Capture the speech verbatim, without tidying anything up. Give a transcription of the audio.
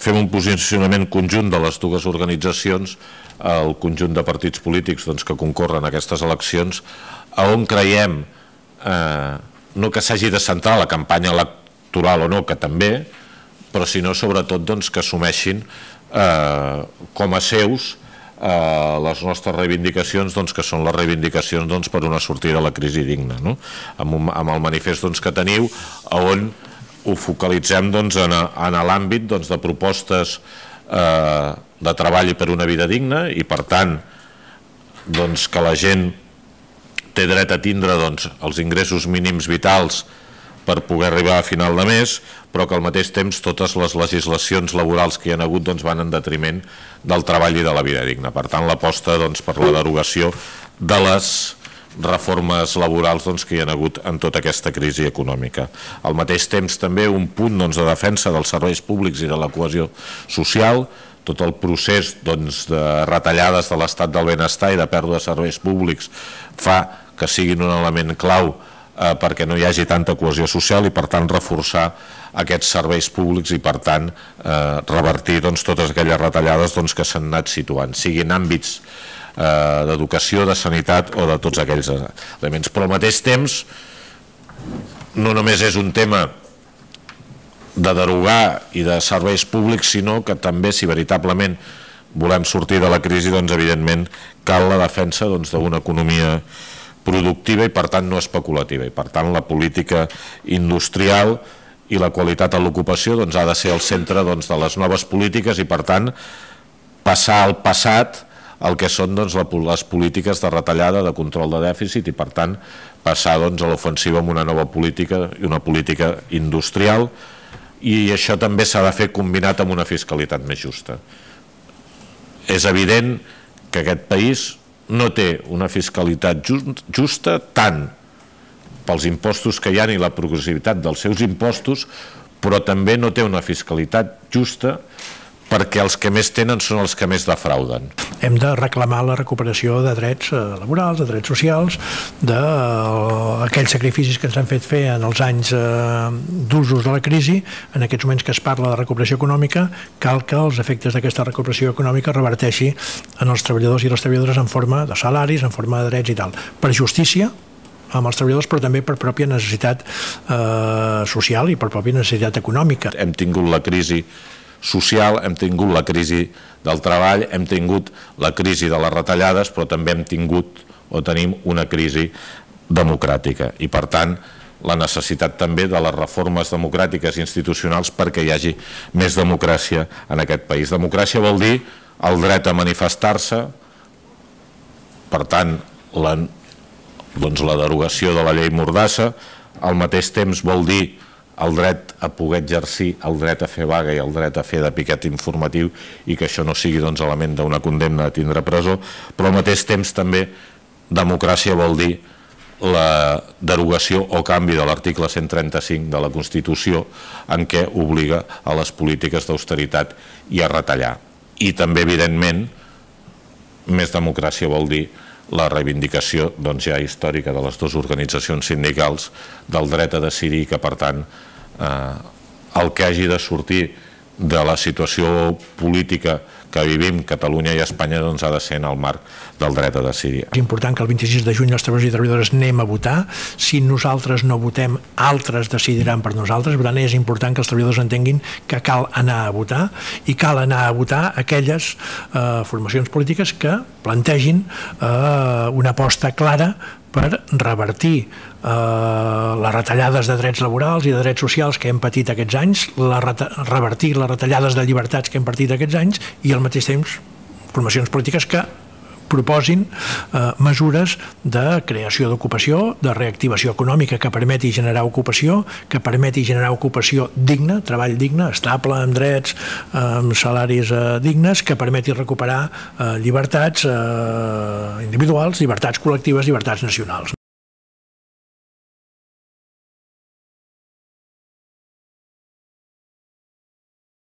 fem un posicionament conjunt de les dues organitzacions, el conjunt de partits polítics doncs, que concorren a aquestes eleccions, a on creiem eh, no que s'hagi de centrar la campanya electoral o no, que també, però sinó sobretot doncs, que assumeixin eh, com a seus eh, les nostres reivindicacions, doncs, que són les reivindicacions doncs, per una sortida de la crisi digna, no? amb, un, amb el manifest doncs, que teniu, on ho focalitzem doncs, en, en l'àmbit doncs, de propostes eh, de treball per una vida digna i per tant doncs, que la gent té dret a tindre doncs, els ingressos mínims vitals per poder arribar a final de mes, però que al mateix temps totes les legislacions laborals que hi ha hagut doncs, van en detriment del treball i de la vida digna. Per tant, l'aposta doncs, per la derogació de les reformes laborals doncs, que hi ha hagut en tota aquesta crisi econòmica. Al mateix temps també un punt doncs, de defensa dels serveis públics i de la cohesió social, tot el procés doncs, de retallades de l'estat del benestar i de pèrdua de serveis públics fa que siguin un element clau eh, perquè no hi hagi tanta cohesió social i per tant reforçar aquests serveis públics i per tant eh, revertir doncs, totes aquelles retallades doncs, que s'han anat situant, siguin àmbits eh, d'educació, de sanitat o de tots aquells elements. Però al mateix temps no només és un tema de derogar i de serveis públics, sinó que també, si veritablement volem sortir de la crisi, doncs evidentment cal la defensa doncs, d'una economia productiva i per tant no especulativa, i per tant la política industrial i la qualitat de l'ocupació doncs, ha de ser el centre doncs, de les noves polítiques i per tant passar al passat el que són doncs, les polítiques de retallada, de control de dèficit i per tant passar doncs, a l'ofensiva amb una nova política i una política industrial, i això també s'ha de fer combinat amb una fiscalitat més justa. És evident que aquest país no té una fiscalitat justa tant pels impostos que hi ha i la progressivitat dels seus impostos, però també no té una fiscalitat justa perquè els que més tenen són els que més defrauden. Hem de reclamar la recuperació de drets laborals, de drets socials, d'aquells sacrificis que ens han fet fer en els anys d'usos de la crisi. En aquests moments que es parla de recuperació econòmica, cal que els efectes d'aquesta recuperació econòmica reverteixi en els treballadors i les treballadores en forma de salaris, en forma de drets i tal. Per justícia amb els treballadors, però també per pròpia necessitat eh, social i per pròpia necessitat econòmica. Hem tingut la crisi social, hem tingut la crisi del treball, hem tingut la crisi de les retallades, però també hem tingut o tenim una crisi democràtica i per tant la necessitat també de les reformes democràtiques i institucionals perquè hi hagi més democràcia en aquest país. Democràcia vol dir el dret a manifestar-se, per tant la, doncs la derogació de la llei Mordassa, al mateix temps vol dir el dret a poder exercir, el dret a fer vaga i el dret a fer de piquet informatiu i que això no sigui doncs, element d'una condemna a tindre presó, però al mateix temps també democràcia vol dir la derogació o canvi de l'article cent trenta-cinc de la Constitució en què obliga a les polítiques d'austeritat i a retallar. I també, evidentment, més democràcia vol dir la reivindicació doncs, ja històrica de les dues organitzacions sindicals del dret a decidir que, per tant, eh, el que hagi de sortir de la situació política que vivim Catalunya i Espanya doncs, ha de ser en el marc del dret a decidir. És important que el vint-i-sis de juny els treballadors i treballadores anem a votar. Si nosaltres no votem, altres decidiran per nosaltres. Per tant, és important que els treballadors entenguin que cal anar a votar i cal anar a votar aquelles eh, formacions polítiques que plantegin eh, una aposta clara per revertir eh, les retallades de drets laborals i de drets socials que hem patit aquests anys, la revertir les retallades de llibertats que hem patit aquests anys i al mateix temps formacions polítiques que proposin eh, mesures de creació d'ocupació, de reactivació econòmica que permeti generar ocupació, que permeti generar ocupació digna, treball digne, estable, amb drets, amb salaris eh, dignes, que permeti recuperar eh, llibertats eh, individuals, llibertats col·lectives, llibertats nacionals.